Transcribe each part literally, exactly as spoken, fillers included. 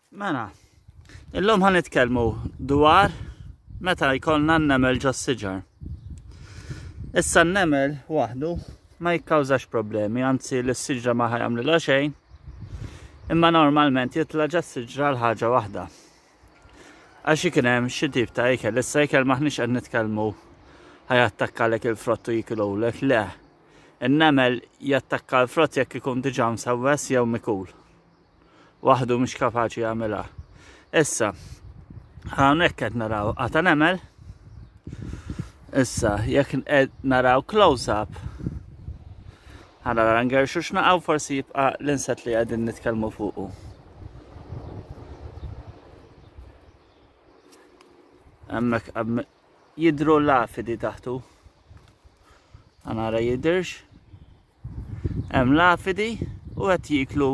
Mela, illum ħa nitkellmu dwar meta jkollna n-nemel ġo siġar. Issa n-nemel waħdu ma jikkawżax problemi, anzi l-siġra ma ħa jagħmlilha xejn, imma normalment jitla' ġo siġra l-ħaġa waħda. Għax ikun hemm xi tip ta' ikel, issa ikel m'aħniex qed nitkellmu ħa jattakkalek il-frott u jikululek, le. In-nemel jattakka l-frott jekk ikun diġà msewwes jew mikul. Waħdu mhux kapaċi jagħmilha. Issa, hawnhekk qed naraw qatgħa nemel. Issa, jekk qed naraw close-up, ħa nara ngerxu x'naqgħu, forsi jibqa' l-insett li qegħdin nitkellmu fuqu. Hemmhekk jidhru l-afidi taħtu. Ħa nara jidhirx. Hemm l-afidi u qed jiklu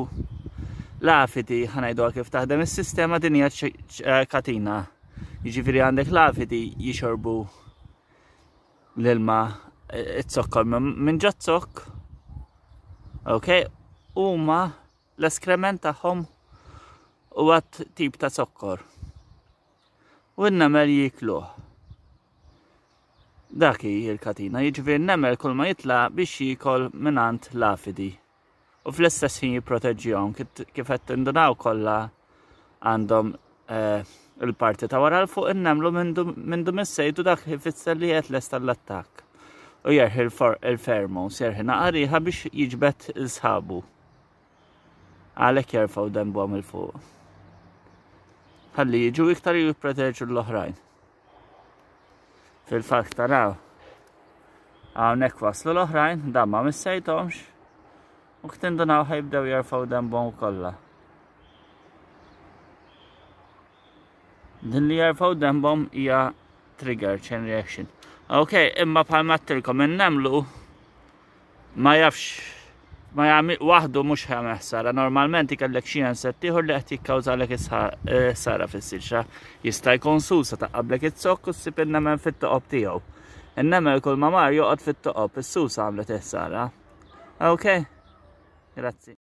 l-afidi. Ħa ngħidu kif taħdem is-sistema, din hija katina. Jiġifieri għandek l-afidi jixorbu l-ilma, it-zokkor minn ġo zokk. Ok, huma l-eskrement tagħhom huwa tip ta' zokkor. U n-nemel jikluh. Dak hi l-katina, jiġifieri n-nemel kull ma jitla' biex jiekol mingħand l-afidi. U fl-istess ħin jipproteġġihom, kif qed tindunaw kollha għandhom il-parti ta' wara l fuq in-nemlu mindu missejtu, dak ifisser li qed lest għall-attakk. U jerħi il-pheromones, jerħi naqa riħa biex jiġbed il-sħabu. Għalhekk jerfgħu denbhom 'il fuq. Ħalli jiġu iktar jipproteġu l-oħrajn. Fil-fatt taraw, hawnhekk waslu l-oħrajn, dan ma missejthomx, u ktindunaw ħa jibdew jerfgħu denbhom kollha. Din li jerfgħu denbhom hija trigger, chain reaction. Ok, imma bħalma għedtilkom in-nemlu ma jafx, ma jagħmel waħdu, mhux ħa ħsara. Normalment ikellek xi insett ieħor li qed jikkawżalek is-ħsara fis-siġra. Jista' jkun susa taqablek iz-zokk u ssib in-nemel fit-toqob tiegħu. In-nemel kull ma mar joqgħod fit-toqob, is-susa għamlet ħsara. Ok, grazzi.